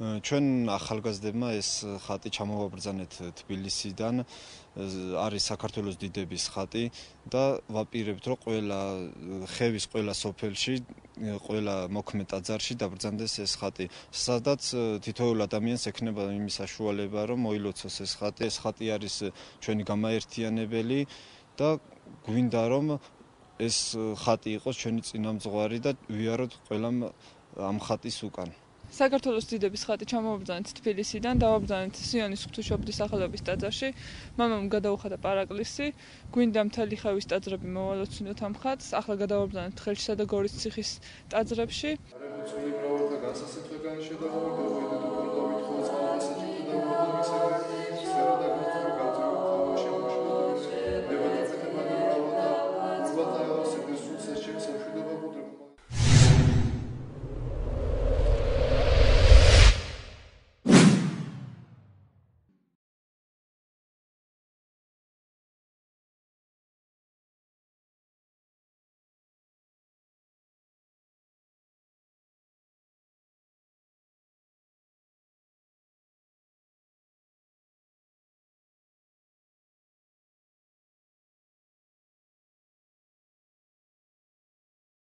ჩვენ ახალგაზრდებმა ეს ხატი ჩამოვაბრძანეთ თბილისიდან, არის საქართველოს დიდების ხატი და ვაპირებთ, რომ ხევის ყველა სოფელში, ყველა მოქმედ ტაძარში დაბრძანდეს ეს ხატი, სადაც თითოეულ ადამიანს ექნება იმის საშუალება, რომ მოილოცოს ეს ხატი. ეს ხატი არის ჩვენი გამაერთიანებელი და გვინდა, რომ ეს ხატი იყოს ჩვენი წინამძღვარი და ვიაროთ ყველამ ამ ხატის უკან. საქართველოს დიდების ხატი ჩამოვაბრძანეთ თბილისიდან, დავაბრძანეთ სიონის ღვთისმშობლის სახელობის ტაძარში. მამამ გადაუხადა პარაკლისი, გვინდა მთელი ხევის ტაძრები მოვალოცინოთ ამ ხატს. ახლა გადავაბრძანეთ ხელშისა და გორის ციხის ტაძრებში.